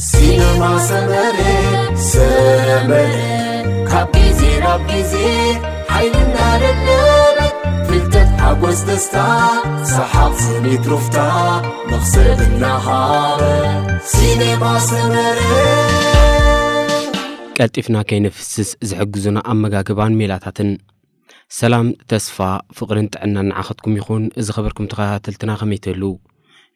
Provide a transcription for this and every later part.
ሲነማ ሰመረ፣ ሰመረ፣ ካብ ግዜ ናብ ግዜ ሓይልና ደደበ፣ ፍልጠት፣ ሓጎስ፣ ደስታ፣ ሰሓቕ፣ ስኒት፣ ሩፍታ፣ መኽሰብ እናሃበ። ሲነማ ሰመረ። ቀልጢፍና ከይንፍስስ ዝሕግዙና ኣመጋግባን ሜላታትን። ሰላም፣ ተስፋ፣ ፍቕርን ጥዕናን ንዓኸትኩም ይኹን። ዝኸበርኩም ተኸታተልትና ከመይ ትህልው?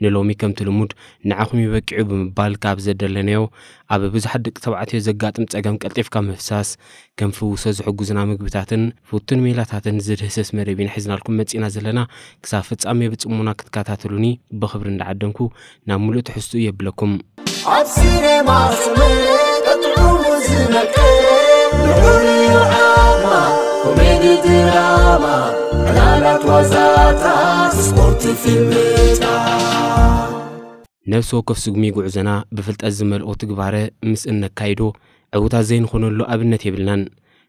ንሎሚ ከምቲ ልሙድ ንዓኹም ይበቂዑ ብምባል ካብ ዘደለናዮ ኣብ ብዙሓት ደቂ ተባዕትዮ ዘጋጥም ጸገም ቀልጢፍካ ምፍሳስ ከም ፍውሶ ዝሕጉዝና ምግብታትን ፍቱን ሜላታትን ዝድህስስ መደብ ኢና ሒዝናልኩም መጺና ዘለና። ክሳብ ፍጻሜ ብጽሞና ክትከታተሉኒ ብኽብሪ እንዳዓደምኩ ናብ ምሉእ ትሕዝትኡ የብለኩም። ኣብ ሲኔማ ሰመረ ቀጥዑ ዝነቀ ልዑል ዓማ ኮሜዲ ድራማ ዕላላት ዋዛታት ስፖርት ፊልምታት። ነፍሲ ወከፍ ስጉሚ ጉዕዞና ብፍልጠት ዝመልኦ ትግባረ ምስ እነካይዶ ዕዉታት ዘይንኾነሉ ኣብነት የብልናን።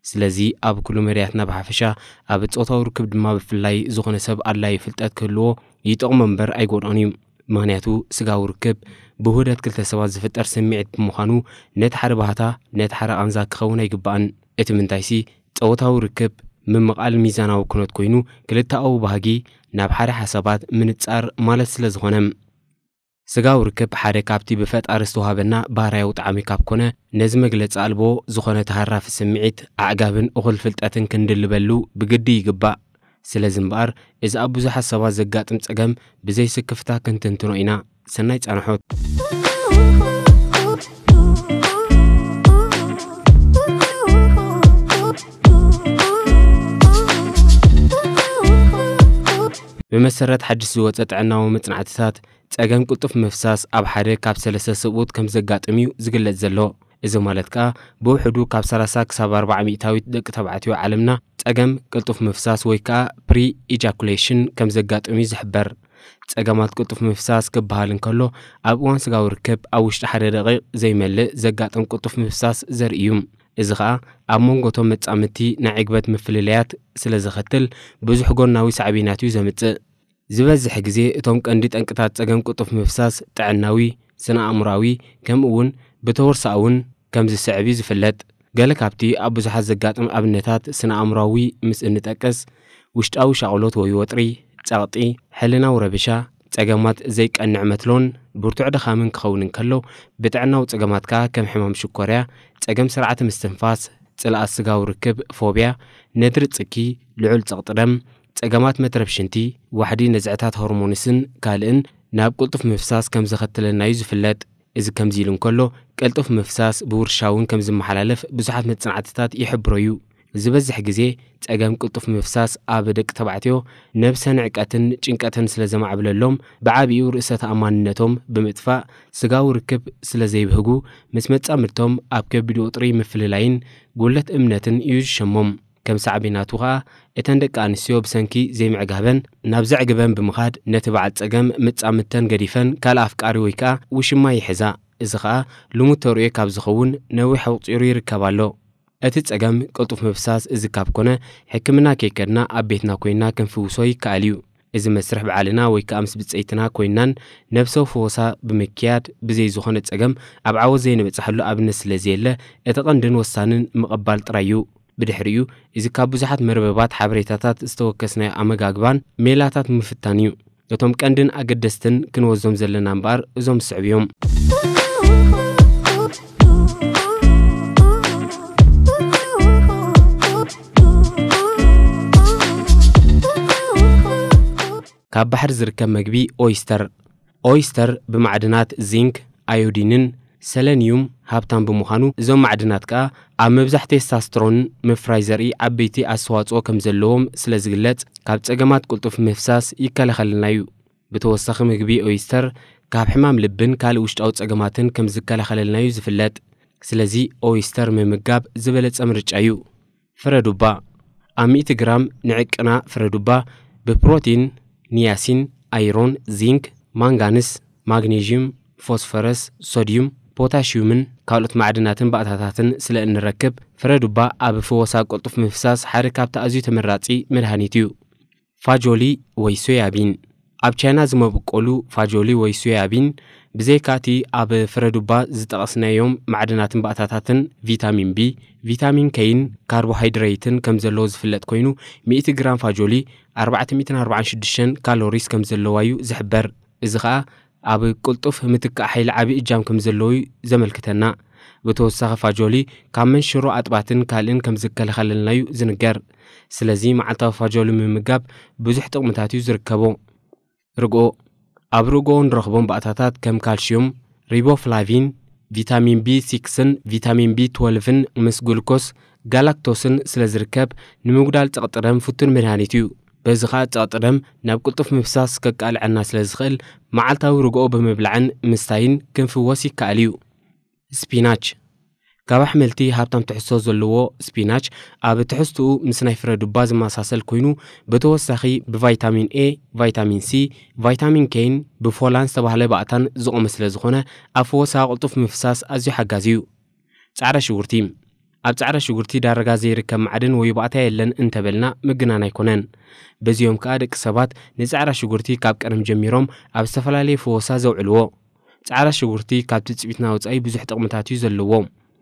ስለዚ ኣብ ኩሉ መዳያትና ብሓፈሻ ኣብ ጾታዊ ርክብ ድማ ብፍላይ ዝኾነ ሰብ ኣድላዪ ፍልጠት ክህልዎ ይጠቕሞ እምበር ኣይጎድኦን እዩ። ምኽንያቱ ስጋዊ ርክብ ብውህደት ክልተ ሰባት ዝፍጠር ስምዒት ብምዃኑ ነቲ ሓደ ባህታ ነቲ ሓደ ቃንዛ ክኸውን ኣይግባእን። እቲ ምንታይሲ ጾታዊ ርክብ ምምቓል ሚዛናዊ ኩነት ኮይኑ ክልተኣዊ ባህጊ ናብ ሓደ ሓሳባት ምንጻር ማለት ስለ ዝኾነ። ስጋዊ ርክብ ሓደ ካብቲ ብፈጣሪ ዝተዋህበና ባህርያዊ ጣዕሚ ካብ ኮነ ነዚ መግለጺ ኣልቦ ዝኾነ ተሃራፊ ስምዒት ኣዕጋብን እኹል ፍልጠትን ክንድልበሉ ብግዲ ይግባእ። ስለዚ እምበኣር እዚ ኣብ ብዙሓት ሰባት ዘጋጥም ጸገም ብዘይ ስክፍታ ክንትንትኖ ኢና። ሰናይ ጻንሖት። ብመሰረት ሓድሽ ዝወጸ ጥዕናዊ መጽናዕትታት ጸገም ቅልጡፍ ምፍሳስ ኣብ ሓደ ካብ ሰለስተ ሰብኡት ከም ዘጋጥም እዩ ዝግለጽ ዘሎ። እዚ ማለት ከኣ ብውሕዱ ካብ ሰላሳ ክሳብ ኣርባዓ ሚእታዊት ደቂ ተባዕትዮ ዓለምና ጸገም ቅልጡፍ ምፍሳስ ወይ ከኣ ፕሪ ኢጃኩሌሽን ከም ዘጋጥም እዩ ዝሕበር። ጸገማት ቅልጡፍ ምፍሳስ ክበሃል እንከሎ ኣብ እዋን ስጋዊ ርክብ ኣብ ውሽጢ ሓደ ደቂቕ ዘይመልእ ዘጋጥም ቅልጡፍ ምፍሳስ ዘርኢ እዩ። እዚ ኸኣ ኣብ መንጎ እቶም መጻምድቲ ናይ ዕግበት ምፍልለያት ስለ ዘኸትል ብዙሕ ጎናዊ ሳዕቤናት እዩ ዘምጽእ። ዝበዝሕ ግዜ እቶም ቀንዲ ጠንቅታት ጸገም ቅልጡፍ ምፍሳስ ጥዕናዊ፣ ስነ ኣእምሮኣዊ፣ ከምኡ እውን ብተወርሳእውን ከም ዝስዕብ እዩ ዝፍለጥ። ገለ ካብቲ ኣብ ብዙሓት ዘጋጥም ኣብነታት ስነ ኣእምሮኣዊ ምስ እንጠቅስ ውሽጣዊ ሻቕሎት ወይ ወጥሪ፣ ጸቕጢ፣ ሕልናዊ ረብሻ፣ ጸገማት ዘይቀንዕ መትሎን ብርቱዕ ድኻምን ክኸውን እንከሎ ብጥዕናዊ ጸገማት ከኣ ከም ሕማም ሽኮርያ፣ ጸገም ስርዓተ ምስትንፋስ፣ ጽልኣት ስጋዊ ርክብ፣ ፎብያ፣ ነድሪ ጽኪ፣ ልዑል ጸቕጢ ደም፣ ጸገማት መትረብ ሽንቲ፣ ዋሕዲ ነዝዕታት ሆርሞንስን ካልእን ናብ ቅልጡፍ ምፍሳስ ከም ዘኸትለና እዩ ዝፍለጥ። እዚ ከምዚ ኢሉ እንከሎ ቅልጡፍ ምፍሳስ ብውርሻ እውን ከም ዝመሓላለፍ ብዙሓት መጽናዕትታት ይሕብሮ እዩ። ዝበዝሕ ግዜ ጸገም ቅልጡፍ ምፍሳስ ኣብ ደቂ ተባዕትዮ ነብሰ ንዕቀትን ጭንቀትን ስለ ዘማዕብለሎም ብዓቢኡ ርእሰ ተኣማንነቶም ብምጥፋእ ስጋዊ ርክብ ስለ ዘይብህጉ ምስ መጻምድቶም ኣብ ከቢድ ወጥሪ ምፍልላይን ጉለት እምነትን እዩ ዝሸሞም። ከም ሳዕቤናቱ ኸኣ እተን ደቂ ኣንስትዮ ብሰንኪ ዘይምዕጋበን ናብ ዘዕግበን ብምኻድ ነቲ በዓል ጸገም ምጻምድተን ገዲፈን ካልእ ኣፍቃሪ ወይ ከኣ ውሽማ ይሕዛ። እዚ ኸኣ ልሙድ ተርእዮ ካብ ዝኸውን ነዊሕ ኣቑጺሩ ይርከብ ኣሎ። እቲ ጸገም ቅልጡፍ ምፍሳስ እዚ ካብ ኮነ ሕክምና ከይከድና ኣብ ቤትና ኮይና ክንፍውሶ ይከኣል እዩ። እዚ መስርሕ ብዓልና ወይ ከኣ ምስ ብጸይትና ኮይናን ነብሰ ፈወሳ ብምክያድ ብዘይ ዝኾነ ጸገም ኣብ ዓወት ዘይንበጽሓሉ ኣብነት ስለ ዘየለ እቲ ቀንድን ወሳንን ምቕባል ጥራይ እዩ። ብድሕሪኡ እዚ ካብ ብዙሓት መርበባት ሓበሬታታት ዝተወከስናዮ ኣመጋግባን ሜላታት ምፍታን እዩ። እቶም ቀንድን ኣገደስትን ክንወዞም ዘለና እምበኣር እዞም ዝስዕቡ እዮም። ካብ ባሕሪ ዝርከብ መግቢ ኦይስተር። ኦይስተር ብማዕድናት ዚንክ፣ ኣዮዲንን ሰለንዩም ሃብታም ብምዃኑ እዞም ማዕድናት ከኣ ኣብ ምብዛሕ ቴስታስትሮን ምፍራይ ዘርኢ ዓበይቲ ኣስተዋጽኦ ከም ዘለዎም ስለ ዝግለጽ ካብ ጸገማት ቅልጡፍ ምፍሳስ ይከላኸለልና እዩ። ብተወሳኺ ምግቢ ኦይስተር ካብ ሕማም ልብን ካልእ ውሽጣዊ ጸገማትን ከም ዝከላኸለልና እዩ ዝፍለጥ። ስለዚ ኦይስተር ምምጋብ ዝበለጸ ምርጫ እዩ። ፍረ ዱባ። ኣብ ሚእቲ ግራም ንዕቅና ፍረ ዱባ ብፕሮቲን፣ ኒያሲን፣ ኣይሮን፣ ዚንክ፣ ማንጋንስ፣ ማግኔዥዩም፣ ፎስፈረስ፣ ሶድዩም፣ ፖታሽዩምን ካልኦት ማዕድናትን ባእታታትን ስለ እንረክብ ፍረ ዱባ ኣብ ፍወሳ ቅልጡፍ ምፍሳስ ሓደ ካብቲ ኣዝዩ ተመራጺ መድሃኒት እዩ። ፋጆሊ ወይ ሶያቢን። ኣብ ቻይና ዝመበቆሉ ፋጆሊ ወይ ሶያቢን፣ ብዘይካቲ ኣብ ፍረዱባ ዝጠቐስናዮም ማዕድናትን ባእታታትን፣ ቪታሚን ቢ፣ ቪታሚን ኬይን ካርቦሃይድሬትን ከም ዘለዎ ዝፍለጥ ኮይኑ፣ ሚእቲ ግራም ፋጆሊ ኣርባዕተ ሚእትን ኣርባዓን ሽዱሽተን ካሎሪስ ከም ዘለዋ እዩ ዝሕበር። እዚ ኸኣ ኣብ ቅልጡፍ ምትካእ ሓይሊ ዓቢ እጃም ከም ዘለዎ እዩ ዘመልክተና። ብተወሳኺ ፋጆሊ ካብ መንሽሮ ኣጥባትን ካልእን ከም ዝከላኸለልና እዩ ዝንገር። ስለዚ መዓልታዊ ፋጆሊ ምምጋብ ብዙሕ ጥቕምታት እዩ ዝርከቦ። ርግኦ፣ ኣብ ርግኦ ንረኽቦም ባእታታት ከም ካልሽዩም፣ ሪቦፍላቪን፣ ቪታሚን ቢ ሲክስን ቪታሚን ቢ ትወልቭን ምስ ግሉኮስ፣ ጋላክቶስን ስለ ዝርከብ፣ ንምጉዳል ጸቕጢ ደም ፍቱን መድሃኒት እዩ። በዚ ኸኣ ጸቕጢ ደም ናብ ቅልጡፍ ምፍሳስ ከቃልዐና ስለ ዝኽእል፣ መዓልታዊ ርግኦ ብምብላዕን ምስታይን ክንፍወስ ይከኣል እዩ። ስፒናች። ካብ ኣሕምልቲ ሃብታም ትሕዝቶ ዘለዎ ስፒናች፣ ኣብ ትሕዝትኡ ምስ ናይ ፍረ ዱባ ዝመሳሰል ኮይኑ፣ ብተወሳኺ ብቫይታሚን ኤ፣ ቫይታሚን ሲ፣ ቫይታሚን ኬን ብፎላን ዝተባህለ ባእታን ዝቖመ ስለ ዝኾነ፣ ኣብ ፈወሳ ቅልጡፍ ምፍሳስ ኣዝዩ ሓጋዚ እዩ። ጻዕዳ ሽጉርቲ። ኣብ ጻዕዳ ሽጉርቲ ዳርጋ ዘይርከብ ማዕድን ወይ ባእታ የለን እንተበልና ምግናን ኣይኮነን። በዚኦም ከኣ ደቂ ሰባት ንጻዕዳ ሽጉርቲ ካብ ቀደም ጀሚሮም ኣብ ዝተፈላለየ ፈወሳ ዘውዕልዎ። ጻዕዳ ሽጉርቲ ካብ ትጽቢትና ወጻኢ ብዙሕ ጥቕምታት እዩ ዘለዎ።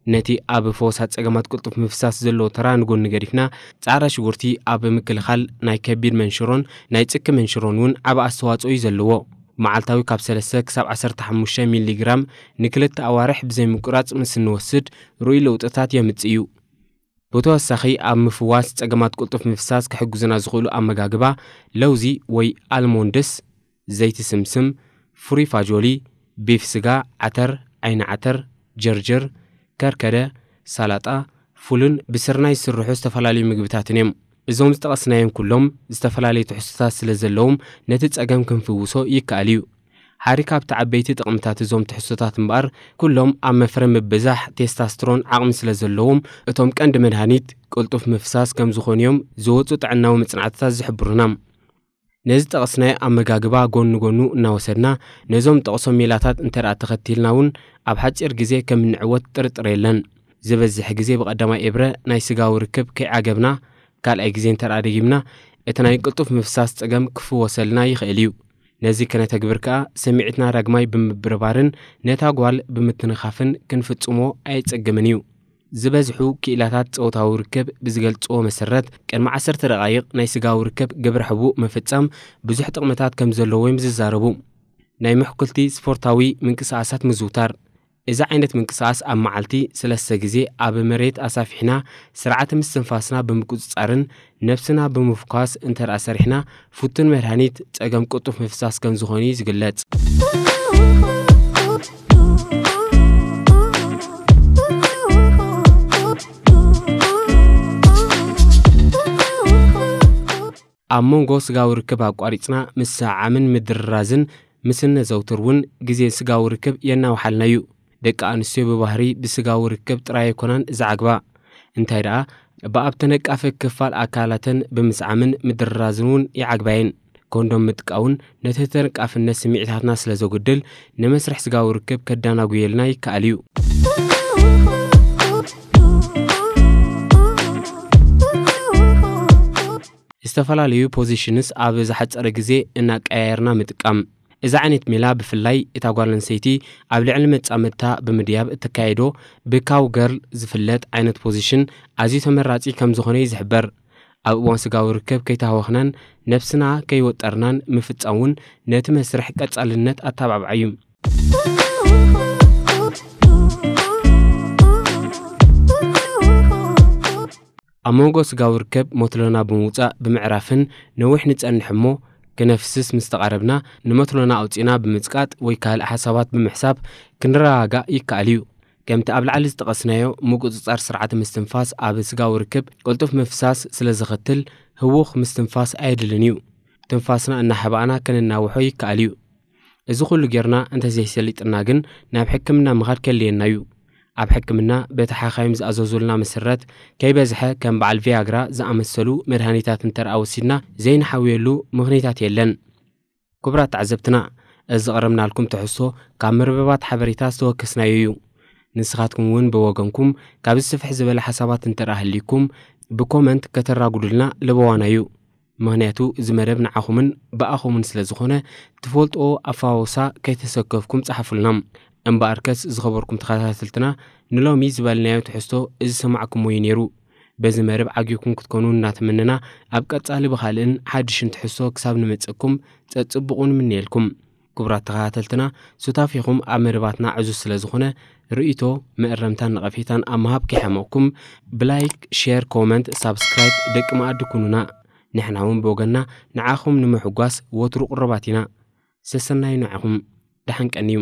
ነቲ ኣብ ፈወሳ ጸገማት ቅልጡፍ ምፍሳስ ዘለዎ ተራ ንጎኒ ገዲፍና፣ ጻዕዳ ሽጉርቲ ኣብ ምክልኻል ናይ ከቢድ መንሽሮን ናይ ጽኪ መንሽሮን እውን ዓቢ ኣስተዋጽኦ እዩ ዘለዎ። መዓልታዊ ካብ ሰለስተ ክሳብ ዓሰርተ ሓሙሽተ ሚሊ ግራም ንክልተ ኣዋርሕ ብዘይ ምቁራጽ ምስ እንወስድ ርኡይ ለውጥታት የምጽእ እዩ። ብተወሳኺ ኣብ ምፍዋስ ጸገማት ቅልጡፍ ምፍሳስ ክሕግዙና ዝኽእሉ ኣመጋግባ ለውዚ ወይ ኣልሞንድስ፣ ዘይቲ ስምስም፣ ፍሩይ ፋጆሊ፣ ቢፍ ስጋ፣ ዓተር፣ ዓይኒ ዓተር፣ ጀርጀር፣ ከርከደ፣ ሳላጣ፣ ፉልን ብስርናይ ዝስርሑ ዝተፈላለዩ ምግብታትን እዮም። እዞም ዝጠቐስናዮም ኩሎም ዝተፈላለዩ ትሕዝቶታት ስለ ዘለዎም ነቲ ጸገም ክንፍውሶ ይከኣል እዩ። ሓደ ካብቲ ዓበይቲ ጥቕምታት እዞም ትሕዝቶታት እምበኣር ኩሎም ኣብ መፍረ ምብዛሕ ቴስታስትሮን ዓቕሚ ስለ ዘለዎም እቶም ቀንዲ መድሃኒት ቅልጡፍ ምፍሳስ ከም ዝኾኑ እዮም ዝወጹ ጥዕናዊ መጽናዕትታት ዝሕብሩና። ነዚ ጠቐስናዮ ኣመጋግባ ጎኒ ጎኑ እናወሰድና ነዞም ጠቕሶም ሜላታት እንተ ደኣ ተኸቲልና እውን ኣብ ሓጺር ግዜ ከም እንዕወት ጥርጥር የለን። ዝበዝሕ ግዜ ብቐዳማይ ኤብረ ናይ ስጋዊ ርክብ ከይዓገብና ካልኣይ ግዜ እንተ ደኣ ደጊምና እቲ ናይ ቅልጡፍ ምፍሳስ ጸገም ክፍወሰልና ይኽእል እዩ። ነዚ ከነተግብር ከኣ ስምዒትና ዳግማይ ብምብርባርን ነታ ጓል ብምትንኻፍን ክንፍጽሞ ኣየጸግምን እዩ። ዝበዝሑ ክኢላታት ጾታዊ ርክብ ብዝገልጽዎ መሰረት ቅድሚ ዓሰርተ ደቓይቕ ናይ ስጋዊ ርክብ ግብረ ሕቡእ ምፍጻም ብዙሕ ጥቕምታት ከም ዘለዎ እዮም ዝዛረቡ። ናይ ምሕኩልቲ ስፖርታዊ ምንቅስቓሳት ምዝውታር። እዚ ዓይነት ምንቅስቓስ ኣብ መዓልቲ ሰለስተ ግዜ ኣብ መሬት ኣሳፊሕና ስርዓተ ምስትንፋስና ብምቁጽጻርን ነብስና ብምፍኳስ እንተ ደኣ ሰሪሕና ፍቱን መድሃኒት ጸገም ቅልጡፍ ምፍሳስ ከም ዝኾነ እዩ ዝግለጽ። ኣብ መንጎ ስጋዊ ርክብ ኣቋሪጽና ምስዕዓምን ምድርራዝን ምስ እነዘውትር እውን ግዜ ስጋዊ ርክብ የናውሓልና እዩ። ደቂ ኣንስትዮ ብባህሪ ብስጋዊ ርክብ ጥራይ ኣይኮናን ዝዓግባ። እንታይ ደኣ ብኣብ ተነቃፊ ክፋል ኣካላተን ብምስዓምን ምድርራዝን እውን ይዓግባየን። ኮንዶም ምጥቃውን ነቲ ተነቃፍነት ስምዒታትና ስለ ዘጉድል ንመስርሕ ስጋዊ ርክብ ከዳናጉየልና ይከኣል እዩ። ዝተፈላለዩ ፖዚሽንስ ኣብ ዝሓጸረ ግዜ እናቀያየርና ምጥቃም። እዚ ዓይነት ሜላ ብፍላይ እታ ጓል ኣንስተይቲ ኣብ ልዕሊ መጻምድታ ብምድያብ እተካየዶ ብካው ገርል ዝፍለጥ ዓይነት ፖዚሽን ኣዝዩ ተመራጺ ከም ዝኾነ እዩ ዝሕበር። ኣብ እዋን ስጋዊ ርክብ ከይተሃወኽናን ነብስና ከይወጠርናን ምፍጻም እውን ነቲ መስርሕ ቀጻልነት ኣተባብዓ እዩ። ኣብ መንጎ ስጋዊ ርክብ መትሎና ብምውጻእ ብምዕራፍን ነዊሕ ንጸንሕ እሞ ክነፍስስ ምስ ተቓረብና ንመትሎና ኣውጺእና ብምጽቃጥ ወይ ካልእ ሓሳባት ብምሕሳብ ክንረጋጋእ ይከኣል እዩ። ከምቲ ኣብ ላዕሊ ዝጠቐስናዮ ምቁጽጻር ስርዓተ ምስትንፋስ ኣብ ስጋዊ ርክብ ቅልጡፍ ምፍሳስ ስለ ዘኸትል ህዉኽ ምስትንፋስ ኣየድልን እዩ። ትንፋስና እናሓባእና ከነናውሖ ይከኣል እዩ። እዚ ኩሉ ጌርና እንተዘይሰሊጥና ግን ናብ ሕክምና ምኻድ ከድልየና እዩ። ኣብ ሕክምና በቲ ሓኻይም ዝኣዘዙልና መሰረት ከይበዝሐ ከም በዓል ቪያግራ ዝኣመሰሉ መድሃኒታት እንተ ደኣ ወሲድና ዘይንሓውየሉ ምኽንያታት የለን። ክቡራት ተዓዘብትና፣ እዚ ዘቕረብናልኩም ትሕዝቶ ካብ መርበባት ሓበሬታ ዝተወከስናዮ እዩ። ንስኻትኩም እውን ብወገንኩም ካብዚ ስፍሕ ዝበለ ሓሳባት እንተ ደኣ ህልይኩም ብኮመንት ከተራጉዱልና ለበዋና እዩ። ምኽንያቱ እዚ መደብ ንዓኹምን ብኣኹምን ስለ ዝኾነ፣ ትፈልጥዎ ኣፋወሳ ከይተሰከፍኩም ጸሓፉልና። እምበኣርከስ ዝኸበርኩም ተኸታተልትና፣ ንሎሚ ዝበልናዮ ትሕዝቶ እዚ ሰማዕኩሞ እዩ ነይሩ። በዚ መደብ ዓጊብኩም ክትኮኑ እናተመነና፣ ኣብ ቀጻሊ ብኻልእን ሓድሽን ትሕዝቶ ክሳብ ንመጸኩም ጸጽብቑ ንምነየልኩም። ክቡራት ተኸታተልትና፣ ሱታፌኹም ኣብ መደባትና ዕዙዝ ስለ ዝኾነ፣ ርእይቶ፣ መእረምታን ነቐፌታን ኣብ ምሃብ ከይሓመቕኩም፣ ብላይክ፣ ሼር፣ ኮመንት፣ ሳብስክራይብ ደቂ መኣዲ ኩኑና። ንሕና እውን ብወገንና ንዓኹም ንምሕጓስ ወትሩ ቅሩባት ኢና። ሰሰናዩ ንዓኹም። ደሓን ቀንዩ።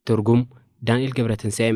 ትርጉም፣ ዳንኤል ገብረትንሳኤ።